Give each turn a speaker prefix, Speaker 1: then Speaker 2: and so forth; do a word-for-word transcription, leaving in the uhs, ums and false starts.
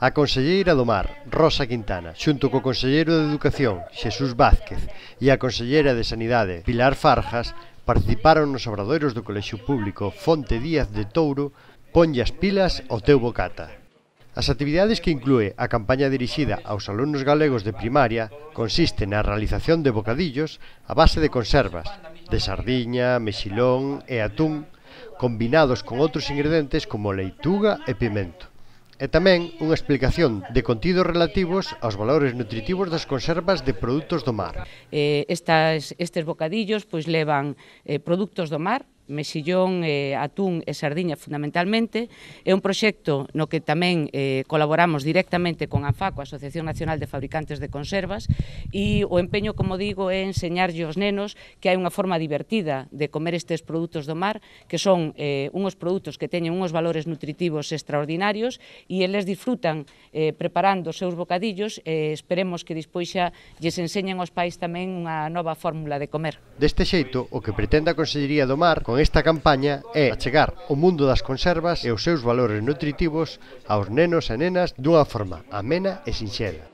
Speaker 1: A conselleira do Mar, Rosa Quintana, xunto co conselleiro de Educación, Xesús Vázquez, e a conselleira de Sanidade, Pilar Farjas, participaron nos obradoiros do Colexio Público Fonte Díaz de Touro Ponlle as pilas ao teu bocata. As actividades que inclúe a campaña dirixida aos alumnos galegos de primaria consiste na realización de bocadillos a base de conservas, de sardiña, mexilón e atún, combinados con outros ingredientes como leituga e pimento. E tamén unha explicación de contidos relativos aos valores nutritivos das conservas de produtos do mar.
Speaker 2: Eh, estas, estes bocadillos pois levan eh, produtos do mar, mexillón, eh, atún e sardiña fundamentalmente. É un proxecto no que tamén eh, colaboramos directamente con ANFACO, a Asociación Nacional de Fabricantes de Conservas, e o empeño, como digo, é enseñarlle aos nenos que hai unha forma divertida de comer estes produtos do mar, que son eh, unhos produtos que teñen unhos valores nutritivos extraordinarios e eles disfrutan eh, preparando os seus bocadillos e esperemos que despois xa lles enseñen aos pais tamén unha nova fórmula de comer.
Speaker 1: Deste xeito, o que pretende a Consellería do Mar con esta campaña é achegar o mundo das conservas e os seus valores nutritivos aos nenos e nenas dunha forma amena e sinxela.